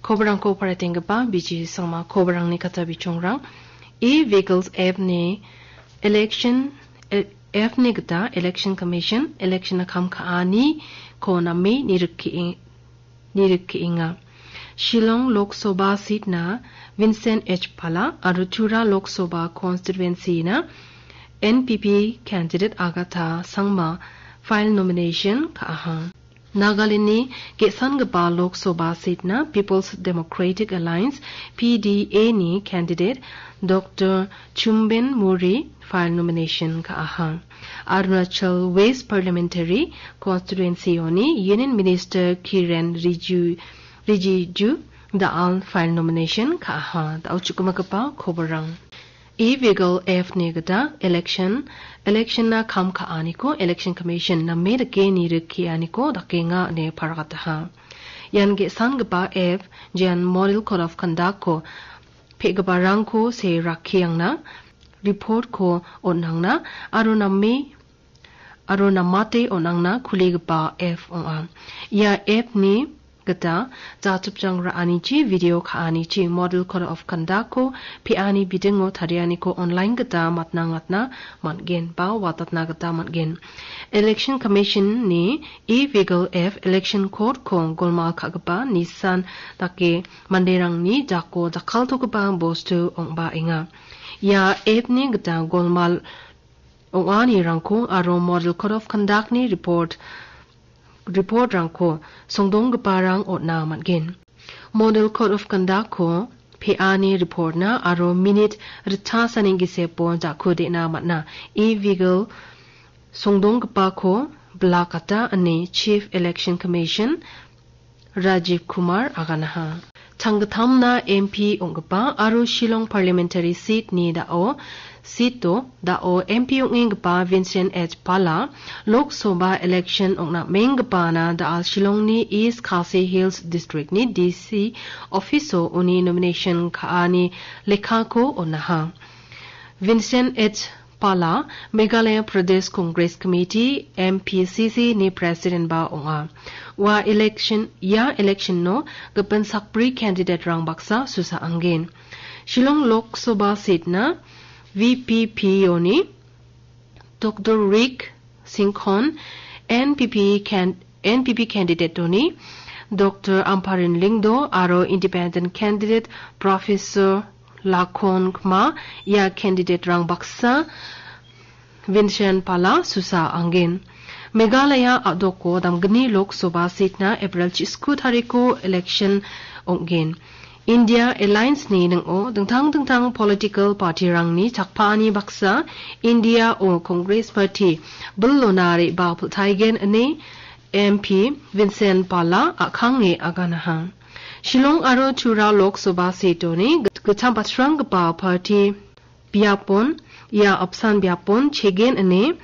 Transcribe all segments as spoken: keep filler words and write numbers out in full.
Kobarangko paritenggipa B J Sangma kobarangni kata bichongrang. E-Vigils F ni election, e-, F ni gita Election Commission, election-na kam ka·aniko name nirikki-, nirikkienga. Shillong Lok Sabha seat-na Vincent H Pala aro Tura Lok Sabha constituency-na N P P candidate Agatha Sangma file nomination ka·aha. Nagaland-ni ge·sangipa Lok Sabha seat-na People's Democratic Alliance, P D A ni candidate Doctor Chumben Murry file nomination ka·aha. Arunachal West Parliamentary Constituency-oni Union Minister Kiren Riju-, Rijiju da·al file nomination ka·aha. Da·o chukgimagipa koborang. E-Vigil F ni gita election, election-na kam ka·aniko Election Commission name dake nirikkianiko dakenga ine paragataha. Ian ge·sangipa F, jean Model Code of Conduct-ko pe·giparangko see rakkiangna, report-ko on·angna aro name aro namate on·angna kuligipa F ong·a. Ia F ni gita jachipchang ra·anichi, video ka·anichi, Model Code of Conduct-ko pe·ani bidingo tarianiko online gita matna ngatna man·gen ba watatna gita man·gen. Election Commission-ni E-Vigil F Election Code-ko golmal ka·gipa nisan dake manderangni jako jakkaltogipa bostu ong·baenga. Ia F ni gita golmal ong·anirangko aro Model Code of Conduct-ni report, report-rangko songdonggiparang on·a man·gen. Model Code of Conduct-ko pe·ani report-na aro minit ritchasani gisepo jakko de·na man·a. E-Vigil songdonggipako bilakata ine Chief Election Commission Rajiv Kumar aganaha. Changgittamna M P ong·gipa aro Shillong Parliamentary Seat-ni da·o, seat-o da·o M P ong·enggipa Vincent H Pala, Lok Sabha election ong·namenggipana da·al Shillongni East Khasi Hills District-ni D C office-o uni nomination ka·ani lekkako on·aha. Vincent H Pala, Meghalaya Pradesh Congress Committee, M P C C, ni president-ba ong·a. Ua election, ia election-o gipin sakbri candidate-rang baksa susa anggen. Shillong Lok Sabha seat-na V P P-oni Doctor Rick Singhon, N P P can-, N P P candidate-oni Doctor Amparin Lyngdoh aro independent candidate Professor Lakhon Kma, ia candidate-rang baksa Vincent Pala susa anggen. Meghalaya a·doko damgni Lok Sabha seat-na April chisku tariko election ong·gen. India Alliance-ni ning·o dingtang dingtang political party-rangni chakpaani baksa India-o Congress Party bilona re·baa pil·taigen ine M P Vincent Pala a·kange aganaha. Shillong aro Tura Lok Sabha seat-oni git-, gitcham batsranggipa party biapon, ia apsan biapon chegen ine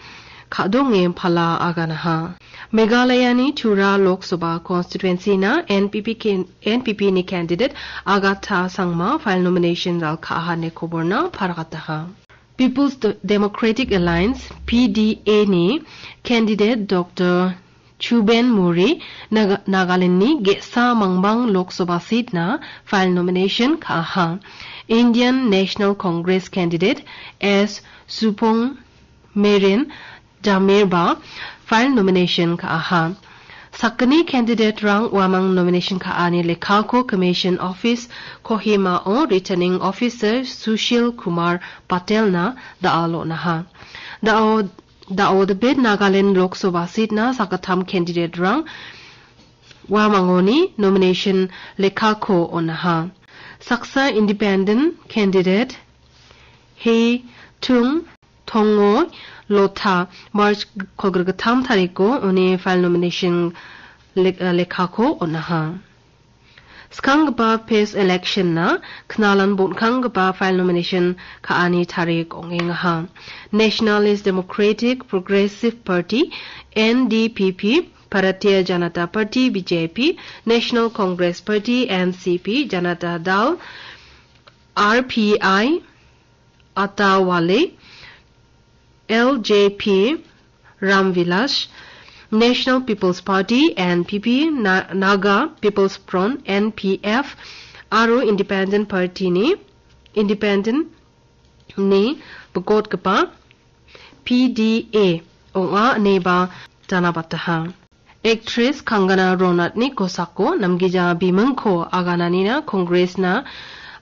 kadonge Pala aganaha. Meghalayani Tura Lok Sabha constituency-na N P P ken-, N P P-ni candidate Agatha Sangma file nomination ralkaha ine koborna paragataha. People's De-, Democratic Alliance, P D A-ni candidate Doctor Chuben Murry, Naga-, Nagaland-ni ge·sa mangbang Lok Sabha seat-na file nomination ka·aha. Indian National Congress candidate S Supong Meren Jamir-ba file nomination ka·aha. Sakgni candidate-rang uamang nomination ka·ani lekkako Commission Office Kohima-o Returning Officer Sushil Kumar Patel-na da·al on·aha. Da·o Da·o debit Nagaland Lok Sabha seat-na sakgittam candidate-rang uamangoni nomination lekkako on·aha. Saksa independent candidate He Tung Tongo Lota March kolgrikgittam tariko uni file nomination lek-, lekkako on·aha. Skanggipa phase election-na knalan bon·kanggipa file nomination ka·ani tarik ong·engaha. Nationalist Democratic Progressive Party, N D P P, Bharatiya Janata Party, B J P, National Congress Party, N C P, Janata Dal, R P I, Atawale, L J P, Ram Vilas, National People's Party, N P P, Na-, Naga People's Front, N P F, aro Independent Party-ni, Independent-ni bikotgipa P D A ong·a ineba janabataha. Actress Kangana Ronatni kosako namgija bimingko agananina Congress-na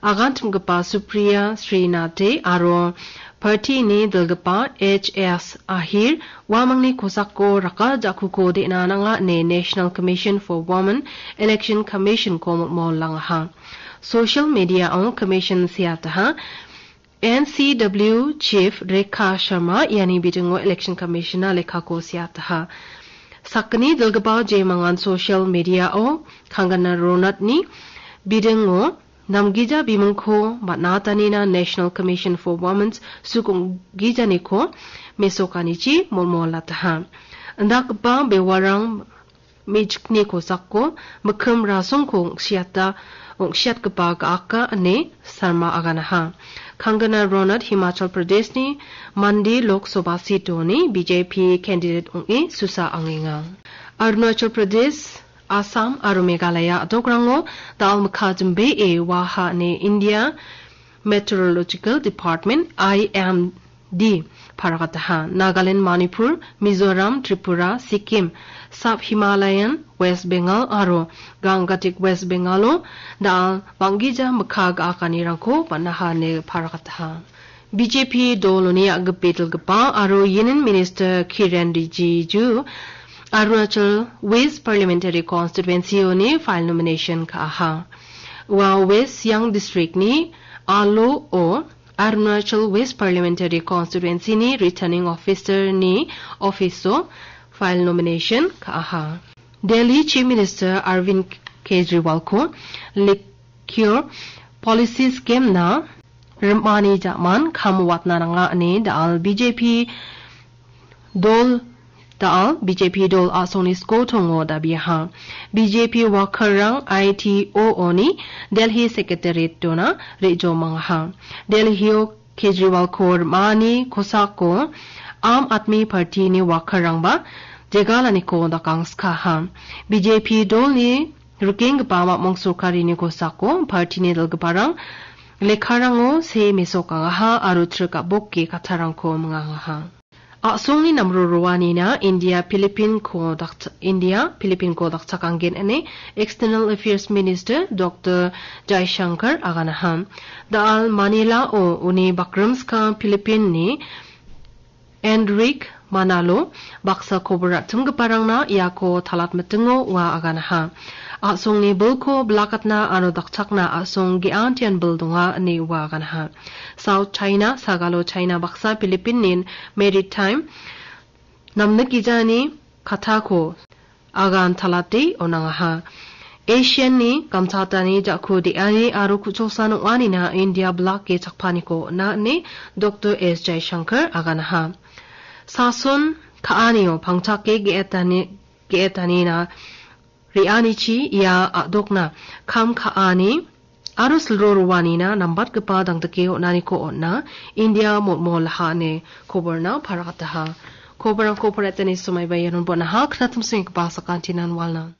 aganchimgipa Supriya Srinath aro party-ni dilgipa H S Ahir uamangni kosako raka ja·kuko de·na nanga ine National Commission for Women Election Commission-ko molmolangaha. Social media-o commission seataha. N C W Chief Rekha Sharma iani bidingo Election Commission-na lekkako seataha. Sakgni dilgipa jemangan social media-o Kangana Ronatni bidingo namgija bimingko man·atanina National Commission for Women's sukonggijaniko mesokanichi molmolataha. Indakgipa bewarang me·chikni kosako mikkim rasongko ong·siata, ong·siatgipa ga·aka ine Sharma aganaha. Kangana Ronat Himachal Pradesh-ni Mandi Lok Sabha seat-oni B J P candidate ong·e susa angenga. Arunachal Pradesh, Assam aro Meghalaya a·dokrango da·al mikka jimbee waha ine India Meteorological Department, I M D, paragataha. Nagaland, Manipur, Mizoram, Tripura, Sikkim, Sub Himalayan, West Bengal aro Gangatik West Bengal-o da·al bang·gija mikka ga·akanirangko man·aha ine paragataha. B J P doloni a·gipe dilgipa aro Union Minister Kiren Rijiju Arunachal West Parliamentary Constituency-oni file nomination ka·aha. Ua West Siang District-ni Alo-o Arunachal West Parliamentary Constituency-ni Returning Officer-ni office-o file nomination ka·aha. Delhi Chief Minister Arvind Kejriwal-ko Liquor Policy Scheme-na rim·ani ja·man kam watna nanga ine da·al B J P dol, da·al B J P dol a·songni skotongo dabiaha. B J P worker-rang I T O-oni Delhi Secretariat-ona re·jomangaha. Delhi-o Kejriwal-ko rim·ani kosako Aam Aadmi Party-ni worker-rangba jegalaniko dakangskaha. B J P dolni rikenggipa mamong sorkarini kosako party-ni dilgiparang lekkarango see mesokangaha aro trik a·boke kattarangko mingangaha. A·songni namro roanina India Philippine-ko dakcha-, India Philippine-ko dakchakanggen ine External Affairs Minister Doctor Jaishankar aganaha. Da·al Manila-o uni bakrimskang Philippine-ni Enrique Manalo baksa kobor ra·chimgiparangna iako talatmitingo ua aganaha. A·songni bilko bilakatna aro dakchakna a·song ge·antian bil donga ine ua aganaha. South China, Sagalo China baksa Philippine-ni maritime namnikgijani kattako agan talate on·angaha. Asian-ni gamtatani ja·ku de·ani aro ku·choksan ong·anina India blak ge chakpaniko on·a ine Doctor S Jaishankar aganaha. Sason ka·anio pangchake ge·etani, ge·etanina re·anichi ia a·dokna kam ka·ani aro silro roanina nambatgipa dangdike on·aniko on·a India molmolaha ine koborna paragataha. Koborangko poretani somaiba ianon bon·aha, knatimsenggipa sakantinan walna.